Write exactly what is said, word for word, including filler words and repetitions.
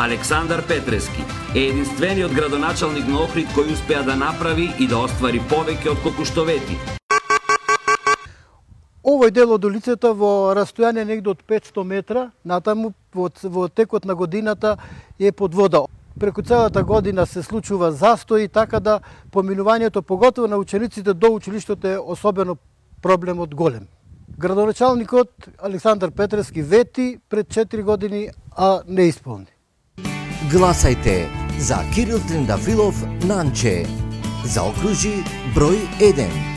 Александар Петрески е единствениот градоначалник на Охрид кој успеа да направи и да оствари повеќе од колку што вети. Овој дел од улицата во растојание негде од петстотини метра, натаму во, во текот на годината е под вода. Преку целата година се случува застои, така да поминувањето, поготово на учениците до училиштето, е особено проблемот голем. Градоначалникот Александар Петрески вети пред четири години, а не исполни. Гласајте за Кирил Трендафилов Нанче. Заокружи број еден.